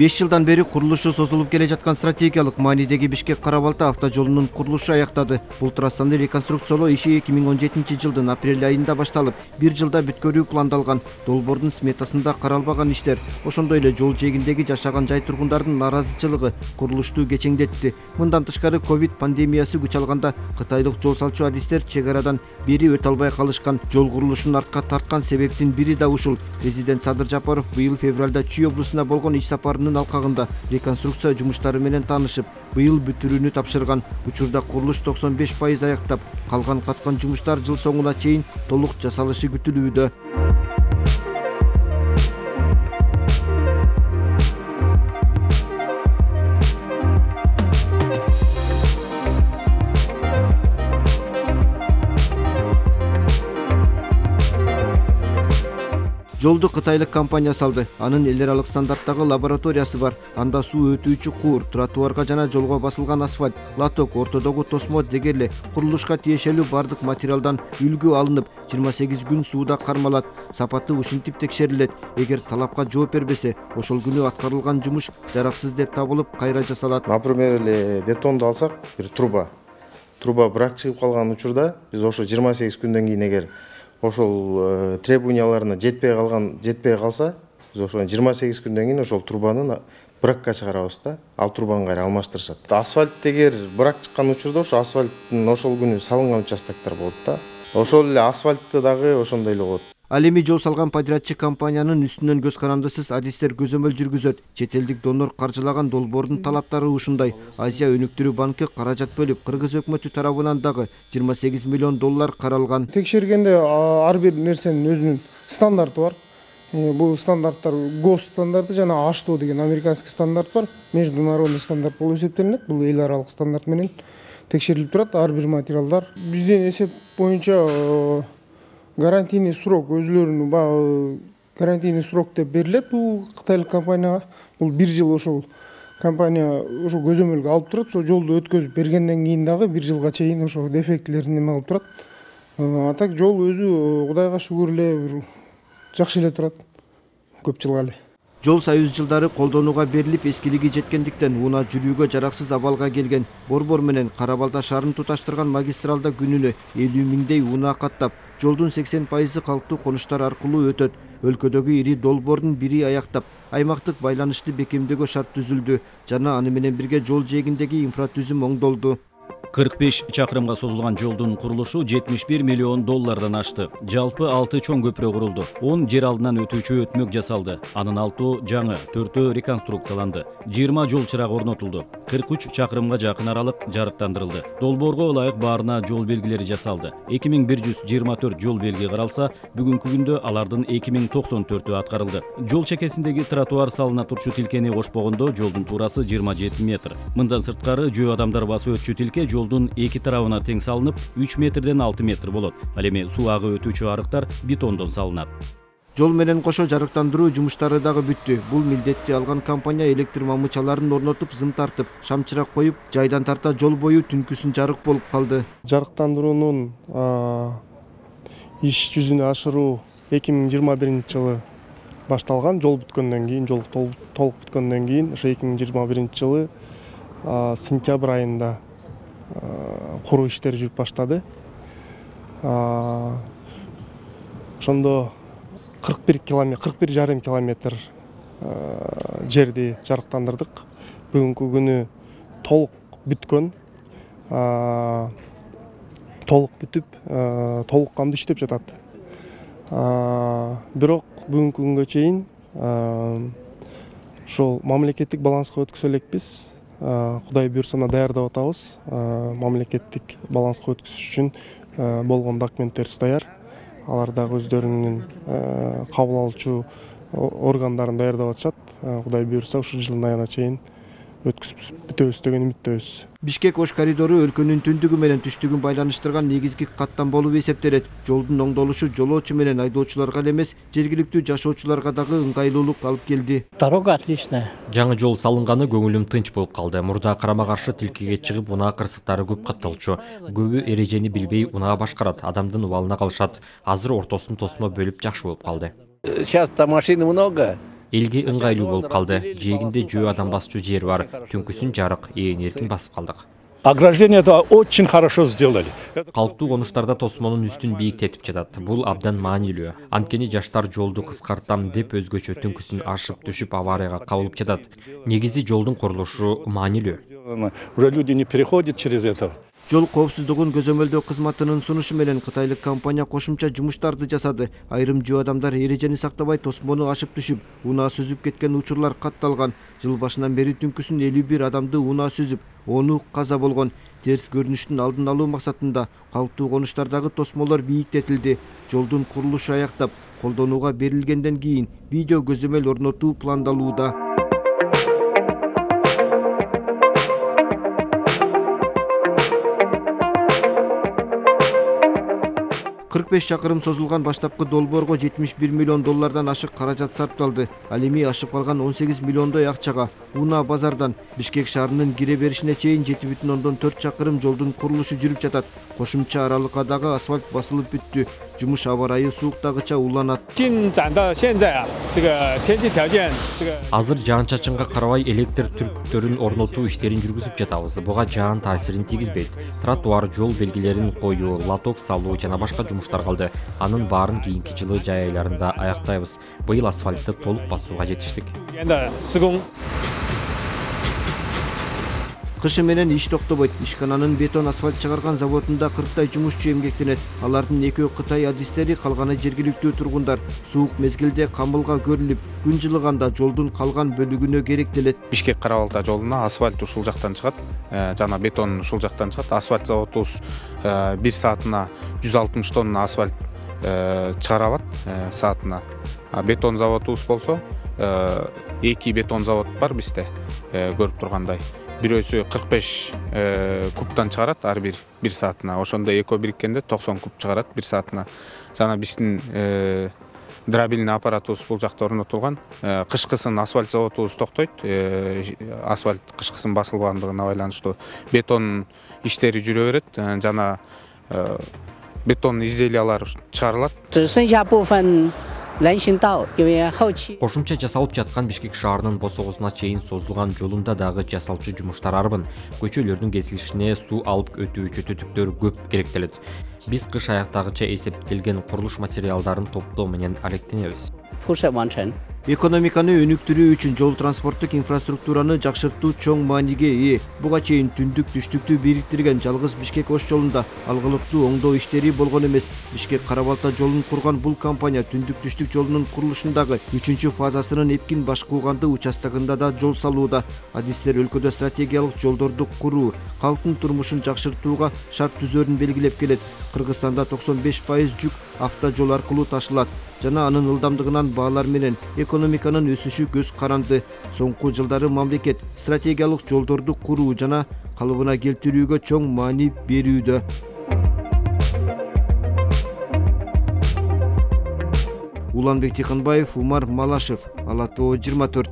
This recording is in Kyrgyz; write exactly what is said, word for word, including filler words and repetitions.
беш жылдан бери курулушу созулуп келе жаткан стратегиялык маанидеги Бишкек-Кара Балта автожолунун курулушу аяктады. Бул трассаны реконструкциялоо иши эки миң он жетинчи жылдын апрель айында башталып, бир жылда бүткөрүү пландалган. Долбоордун сметасында каралбаган иштер, ошондой эле жол жээгиндеги жашаган жай тургундардын наразычылыгы курулушту кечеңдетти. Мындан тышкары ковид пандемиясы күч алганда кытайлык жол салчу адистер чек арадан бери өтө албай калышкан. Жол курулушун артка тарткан себептин бири да ушул. Президент Садыр Жапаров быйыл февралда Чүй облусуна болгон иш сапарынын алкагында реконструкция жумуштары менен таанышып, быйыл бүтүрүүнү тапшырган. Учурда курулуш токсон беш пайыз аяктап, калган каткан жумуштар жыл соңуна чейин толук жасалышы күтүлүүдө. Жолду кытайлык компания салды. Анын эл аралык стандарттагы лабораториясы бар. Анда суу өтүүчү куур, тротуарга жана жолго басылган асфальт, лоток, ортодогу тосмо деги эле курулушка тиешелүү бардык материалдан үлгү алынып, жыйырма сегиз күн сууда кармалат. Сапаты ушинтип текшерилет. Эгер талапка жооп бербесе, ошол күнү аткарылган жумуш жараксыз деп табылып, кайра жасалат. Например, эле бетонду алсак, бир труба. Труба брак чыгып калган учурда биз ошо жыйырма сегиз күндөн кийин эгер ошол требованияларына жетпей калган, жетпей калса, биз ошо жыйырма сегиз күндөн кийин ошол трубанын бракка чыгарабыз да, ал трубаны кайра алмаштырышат. Асфальт эгер брак чыккан учурда ошо асфальттын ошол күнү салынган участоктор болот да. Ошол эле асфальтты дагы ошондой эле болот. Ал эми жол салган подрядчы компаниянын үстүнөн көз карандысыз адистер көзөмөл жүргүзөт. Чет элдик донор каржылаган долбоордун талаптары ушундай. Азия өнүктүрүү банкы каражат бөлүп, Кыргыз өкмөтү тарабынан дагы жыйырма сегиз миллион доллар каралган. Текшергенде ар бир нерсенин өзүнүн стандарты бар. Бул стандарттар ГОСТ стандарты жана А Ш Т О деген американский стандарт бар. Международный стандарт болуп эсептелинет. Бул эл аралык стандарт менен текшерилип турат ар бир материалдар. Биздин эсеп боюнча гарантийный срок өзүлөрүнүн баягы гарантийный срок деп берилет бул кытайлык компанияга. Бул бир жыл ошол компания ошо көзөмөлгө алып турат. Сол жолду өткөзүп бергенден кийин дагы бир жылга чейин ошо дефектилерин эме кылып турат. А так жол өзү Кудайга шүгүр эле жакшы эле турат. Көп жылга эле. Жол союз жылдары колдонууга берилип, эскилиги жеткендиктен унаа жүрүүгө жараксыз абалга келген. Борбор менен Кара Балта шаарын туташтырган магистралда күнүнө элүү миңдей унаа каттап, жолдун сексен пайызы калктуу конуштар аркылуу өтөт. Өлкөдөгү ири долбоордун бири аяктап, аймактык байланышты бекемдөөгө шарт түзүлдү жана аны менен бирге жол жээгиндеги инфратүзүм оңдолду. кырк беш чакырымга созулган жолдун курулушу жетимиш бир миллион доллардан ашты. Жалпы алты чоң көпүрө курулду. он жер алдынан өтүүчү өтмөк жасалды. Анын алтоо жаңы, төртөө реконструкцияланды. жыйырма жол чырагы орнотулду. кырк үч чакырымга жакын аралык жарыктандырылды. Долбоорго ылайык баарына жол белгилери жасалды. эки миң бир жүз жыйырма төрт жол белги каралса, бүгүнкү күндө алардын эки миң токсон төртү аткарылды. Жол чекесиндеги тротуар салына турчу тилкени кошпогондо жолдун туурасы жыйырма жети метр. Мындан сырткары жөө адамдар басып өтчү тилке жолдун эки тарабына тең салынып, үч метрден алты метр болот. Ал эми суу агы өтүүчү арыктар бетондон салынат. Жол менен кошо жарыктандыруу жумуштары дагы бүттү. Бул милдетти алган компания электр мамычаларын орнотуп, зым тартып, шамчырак коюп, жайдан тарта жол бою түнкүсүн жарык болуп калды. Жарыктандыруунун иш жүзүнө ашыруу эки миң жыйырма биринчи жылы башталган. Жол бүткөндөн кийин, жол толук бүткөндөн кийин, ошо эки миң жыйырма биринчи жылы сентябрь айында куруу иштери жүрүп баштады. Ошондо кырк бир километр, кырк бир жарым километр жерди жарыктандырдык. Бүгүнкү күнү толук бүткөн, толук бүтүп, толук кандуу иштеп жатат. Бирок бүгүнкү күнгө чейин ошол мамлекеттик баланска өткөзө элекпиз. Кудай буйрса даярдап атабыз. Мамлекеттик баланска өткөзүш үчүн болгон документтерибиз даяр. Алар дагы өздөрүнүн кабыл алуучу органдарын даярдап атышат. Кудай буйрса ушул жылдын айына чейин өткөзүп бүтөбүз деген үмүттөбүз. Бишкек Ош коридору өлкөнүн түндүгү менен түштүгүн байланыштырган негизги каттам болуп эсептелет. Жолдун оңдолушу жолоочу менен айдоочуларга эле эмес, жергиликтүү жашоочуларга дагы ыңгайлуулук алып келди. Дорога отличная. Жаңы жол салынганы көңүлүм тынч болуп калды. Мурда карама каршы тилкеге чыгып, унаа кырсыктары көп катталчу. Көбү эрежени билбей унаа башкарат, адамдын убалына калышат. Азыр ортосун тосмо бөлүп жакшы болуп калды. Сейчас-то машин много. Элге ыңгайлуу болуп калды. Жээгинде жөө адам басчу жер бар. Түнкүсүн жарык, ээн эркин басып калдык. Ограждение-то очень хорошо сделали. Калктуу конуштарда тосмонун үстүн бийиктетип жатат. Бул абдан маанилүү. Анткени жаштар жолду кыскартам деп өзгөчө түнкүсүн ашып түшүп аварияга кабылып жатат. Негизи жолдун курулушу маанилүү. Уже люди не переходят через это. Жол коопсуздугун көзөмөлдөө кызматынын сунушу менен кытайлык компания кошумча жумуштарды жасады. Айрым жөө адамдар эрежени сактабай тосмону ашып түшүп, унаа сүзүп кеткен учурлар катталган. Жыл башынан бери түнкүсүн элүү бир адамды унаа сүзүп, ону каза болгон. Терс көрүнүштүн алдын алуу максатында калктуу конуштардагы тосмолор бийиктетилди. Жолдун курулушу аяктап, колдонууга берилгенден кийин видео көзөмөл орнотуу пландалууда. кырк беш чакырым созулган баштапкы долбоорго жетимиш бир миллион доллардан ашык каражат сарпталды. Ал эми ашып калган он сегиз миллиондой акчага унаа базардан Бишкек шаарынын кире беришине чейин жети бүтүн ондон төрт чакырым жолдун курулушу жүрүп жатат. Кошумча аралыкка дагы асфальт басылып бүттү. Жумуш аба ырайы сууктагыча уланат. Азыр жаан-чачынга карабай электр түркүктөрүн орнотуу иштерин жүргүзүп жатабыз. Буга жаан таасирин тийгизбейт. Тротуар, жол белгилерин коюу, лоток салуу жана башка жумуштар калды. Анын баарын кийинки жылы жай айларында аяктайбыз. Быйыл асфальтты толук басууга жетиштик. Кышы менен иш токтобойт. Ишкананын бетон асфальт чыгарган заводунда кырктай жумушчу эмгектенет. Алардын экөө Кытай адистери, калганы жергиликтүү тургундар. Суук мезгилде камылга көрүлүп, күн жылыганда жолдун калган бөлүгүнө керектелет. Бишкек Карабалта жолуна асфальт ушул жактан чыгат, жана бетон ушул жактан чыгат. Асфальт заводубуз бир саатына жүз алтымыш тонна асфальт чыгара алат саатына. Бетон заводубуз болсо эки бетон завод бар бизде, көрүп тургандай. Бирөөсү кырк беш кубтан чыгарат ар бир бир саатына. Ошондо экөө бириккенде токсон куб чыгарат бир саатына. Жана биздин дробильный аппаратыбыз бул жакта орнотулган. Кышкысын асфальт заводубуз токтойт. Асфальт кышкысын басылбагандыгына байланыштуу бетон иштери жүрө берет жана бетон изделиялар чыгарылат. Кошумча жасалып жаткан Бишкек шаарынын босогусуна чейин созулган жолунда дагы жасалчу жумуштар арбын. Көчөлөрдүн кесилишине суу алып өтүүчү түтүктөр көп керектелет. Биз кыш аяктагыча эсептелген курулуш материалдарын топтоо менен алектенебиз. Экономиканы өнүктүрүү үчүн жол транспорттук инфраструктураны жакшыртуу чоң мааниге ээ. Буга чейин түндүк түштүктү бириктирген жалгыз Бишкек Ош жолунда алгылыктуу оңдоо иштери болгон эмес. Бишкек Карабалта жолун курган бул компания түндүк түштүк жолунун курулушундагы үчүнчү фазасынын Эпкин Башкууганды участогунда да жол салууда. Адистер өлкөдө стратегиялык жолдорду куруу, калктын турмушун жакшыртууга шарт түзөрүн белгилеп келет. Кыргызстанда токсон беш пайыз жүк автожол аркылуу ташылат жана анын ылдамдыгынан баалар менен экономиканын өсүшү көз каранды. Соңку жылдары мамлекет стратегиялык жолдорду куруу жана калыбына келтирүүгө чоң маани берүүдө. Уланбек Тикенбаев, Умар Малашев, Ала Тоо жыйырма төрт.